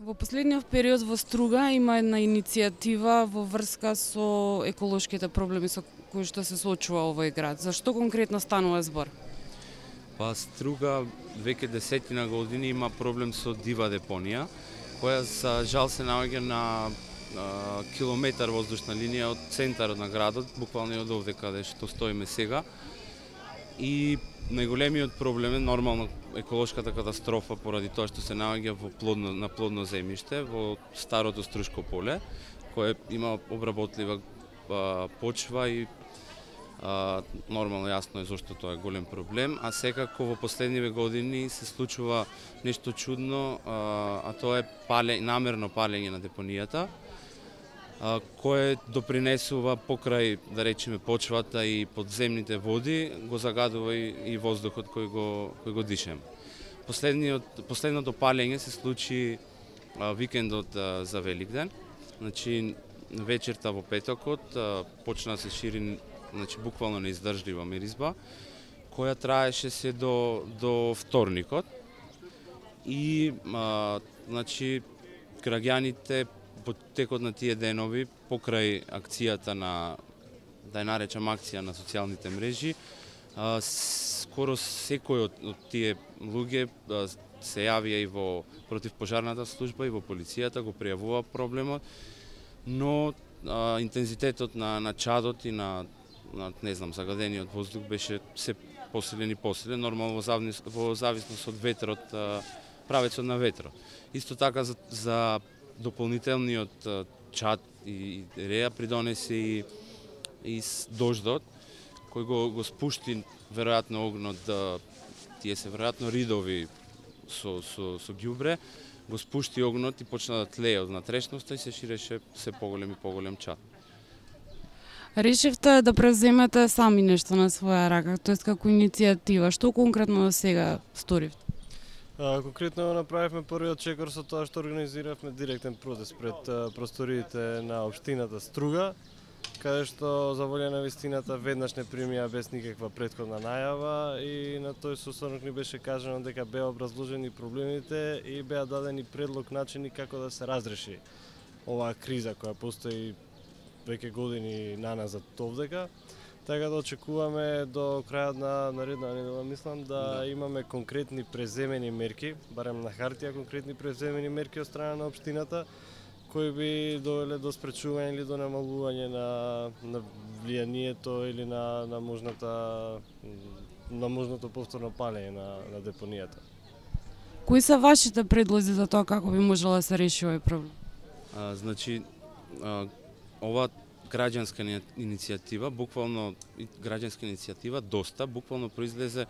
Во последниот период во Струга има една иницијатива во врска со еколошките проблеми со кои што се соочува овој град. Зашто конкретно станува збор? Па Струга веќе десетина години има проблем со дива депонија, која за жал се наоѓа на километар воздушна линија од центарот на градот, буквално од овде каде што стоиме сега. И најголемиот проблем е нормално еколошката катастрофа поради тоа што се наоѓа на плодно земјиште во старото Струшко поле, кое има обработлива почва и нормално јасно е зашто тоа е голем проблем, а секако во последниве години се случува нешто чудно, а тоа е намерно палење на депонијата, кое допринесува покрај, да речеме, почвата и подземните води, го загадува и воздухот кој го дишеме. Последното палење се случи викендот за Великден, значи вечерта во петокот почна да се шири, значи буквално неиздржлива миризба, која траеше се до вторникот и значи граѓаните по текот на тие денови, покрај акцијата да ја наречам акција на социјалните мрежи, скоро секој од тие луѓе се јавија и во противпожарната служба и во полицијата, го пријавува проблемот, но интензитетот на чадот и на не знам, загадениот воздух беше се посилен и посилен, нормално во зависност од ветрот, правецот на ветрот. Исто така за дополнителниот чад и реја придонесе и дождот, кој го спушти веројатно огнот, тие се веројатно ридови со ѓубре, го спушти огнот и почна да тлее од натрешноста и се ширеше се поголем и поголем чад. Решивте да превземете сами нешто на своја рака, тоест како иницијатива. Што конкретно до сега сторивте? Конкретно направивме првиот чекор со тоа што организиравме директен протест пред просториите на општината Струга, каде што за волја на вистината веднаш не примија без никаква претходна најава и на тој состанок ни беше кажано дека беа образложени проблемите и беа дадени предлог начини како да се разреши оваа криза која постои веќе години наназад овдека. Така да очекуваме до крајот на наредна недела, мислам, да имаме конкретни преземени мерки, барем на хартија конкретни преземени мерки од страна на општината, кои би довеле до спречување или до намалување на влијанието или на можното повторно палење на депонијата. Кои се вашите предлози за тоа како би можела да се реши овој проблем? Значи, ова граѓанска иницијатива, буквално граѓанска иницијатива доста, буквално произлезе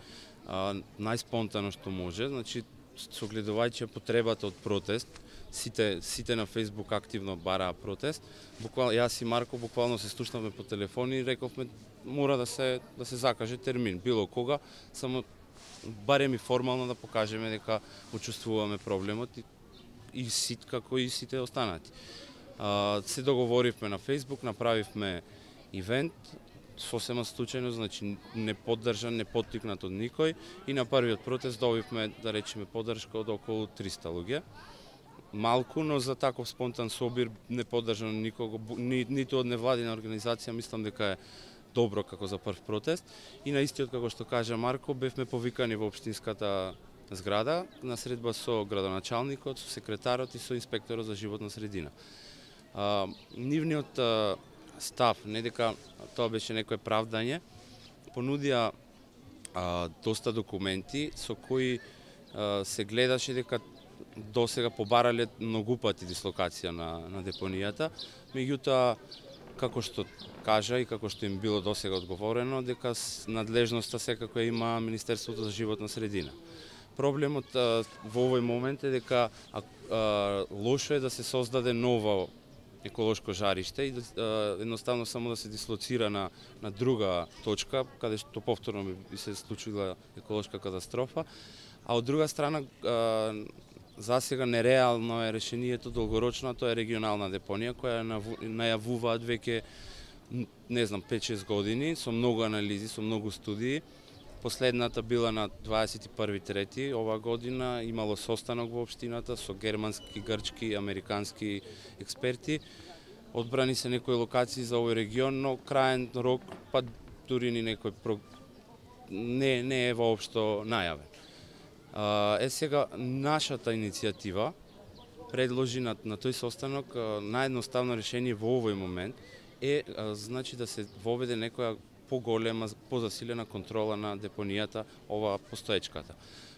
најспонтано што може, значи согледувајќи потребата од протест, сите на Facebook активно бараа протест. Буквално јас и Марко буквално се слушнавме по телефон и рековме мора да се закаже термин, било кога, само барем и формално да покажеме дека учествуваме проблемот и како и сите останати. Се договоривме на Facebook, направивме ивент, сосема случајно, значи не поддржан, не поттикнат од никој и на првиот протест добивме, да речеме, поддршка од околу 300 луѓе. Малку, но за таков спонтан собир не поддржан никого, ниту од невладина организација, мислам дека е добро како за прв протест. И на истиот, како што кажа Марко, бевме повикани во општинската зграда на средба со градоначалникот, со секретарот и со инспекторот за животна средина. Нивниот став, не дека тоа беше некое правдање, понудија доста документи со кои се гледаше дека досега побарале многу пати дислокација на депонијата, меѓутоа како што кажа и како што им било досега одговорено, дека надлежноста секако има Министерството за животна средина. Проблемот во овој момент е дека лошо е да се создаде ново еколошко жариште и едноставно само да се дислоцира на друга точка, каде што повторно би се случила еколошка катастрофа, а од друга страна засега нереално е решението долгорочно, тоа е регионална депонија која најавуваат веќе не знам 5-6 години со многу анализи, со многу студии Последната била на 21.3. оваа година, имало состанок во општината со германски, грчки, американски експерти. Одбрани се некои локации за овој регион, но краен рок, па дури ни некој не е воопшто најавен. Сега нашата иницијатива предложи на тој состанок наједноставно решение во овој момент е значи да се воведе некоја поголема, позасилена контрола на депонијата, ова постоечката.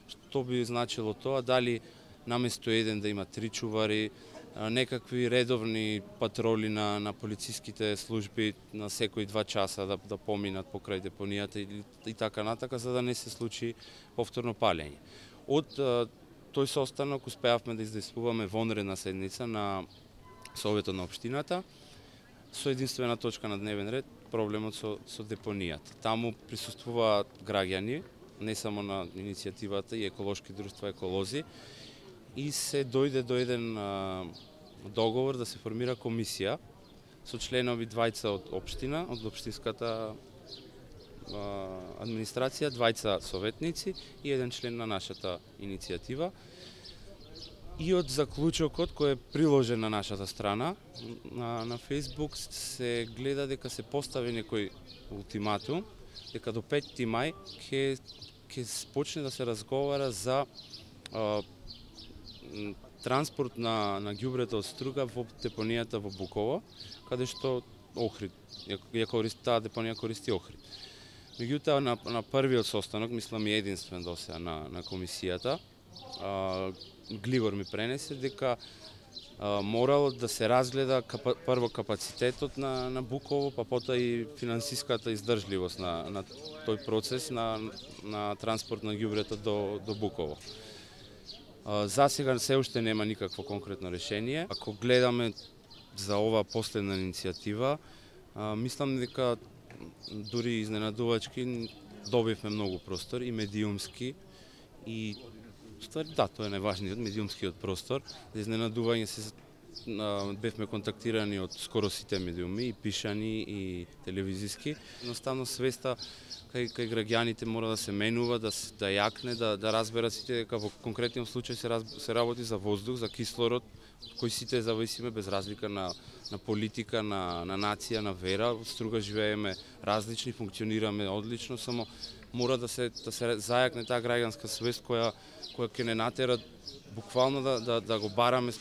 Што би значило тоа? Дали наместо еден да има 3 чувари, некакви редовни патроли на полициските служби на секои 2 часа да поминат покрај депонијата и така натака, за да не се случи повторно палење. Од тој состанок успеавме да издействуваме вонредна седница на Советот на општината со единствена точка на дневен ред проблемот со депонијата. Таму присуствуваат граѓани, не само на иницијативата и еколошки друштва еколози, и се дојде до еден договор да се формира комисија со членови 2 од општина, од општинската администрација, 2 советници и еден член на нашата иницијатива. И од заклучокот кој е приложен на нашата страна на Facebook се гледа дека се постави некој ултиматум дека до 5 мај ќе почне да се разговара за транспорт на ѓубрето од Струга во депонијата во Буково, каде што Охрид, таа депонија користи Охрид. Меѓутоа на првиот состанок, мислам и единствен досега на комисијата, Гливор ми пренесе дека морало да се разгледа прво капацитетот на Буково, па потоа и финансиската издржливост на тој процес на транспорт на ѓубрето до Буково. За сега се уште нема никакво конкретно решение. Ако гледаме за оваа последна иницијатива, мислам дека дури изненадувачки добивме многу простор и медиумски и да, тоа е најважниот медиумскиот простор. За изненадување бевме контактирани од скоро сите медиуми, и пишани и телевизиски. Едноставно свеста кај граѓаните мора да се менува, да јакне, да разберат сите дека во конкретниот случај се работи за воздух, за кислород, кој сите зависиме без разлика на политика, на нација, на вера. Во Струга живееме различни, функционираме одлично, само мора да се зајакне таа граѓанска свест која ќе не натера буквално да го бараме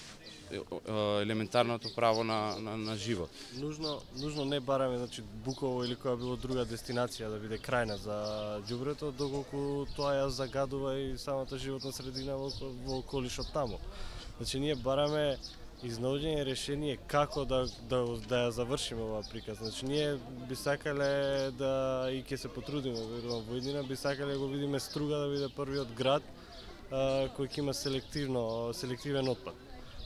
елементарното право на живот. Нужно не бараме, значи, Буково или која било друга дестинација да биде крајна за ѓубрето, доколку тоа ја загадува и самата животна средина во околишот таму. Значи, ние бараме изнаоѓање решение како да ја завршиме оваа приказ. Значи, ние би сакале да и ќе се потрудиме, верувам, во иднина, би сакале да го видиме Струга да биде првиот град кој ќе има селективен отпад.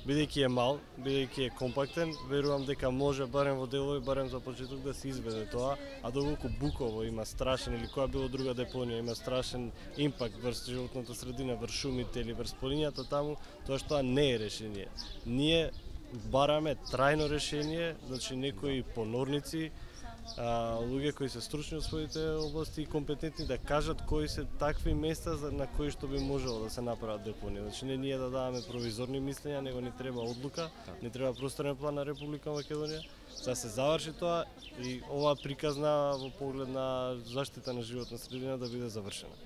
Бидејќи е мал, бидејќи е компактен, верувам дека може барем во делови, барем за почеток да се изведе тоа, а доколку Буково има страшен или која било друга депонија има страшен импакт врз животната средина, врз шумите или врз полињата таму, тоа што не е решение. Ние бараме трајно решение, значи некои понорници, луѓе кои се стручни од своите области и компетентни да кажат кои се такви места на кои што би можело да се направат депонија. Значи не ние да даваме провизорни мислења, него ни треба одлука, ни треба просторен план на Република Македонија, за да се заврши тоа и оваа приказна во поглед на заштита на животна средина да биде завршена.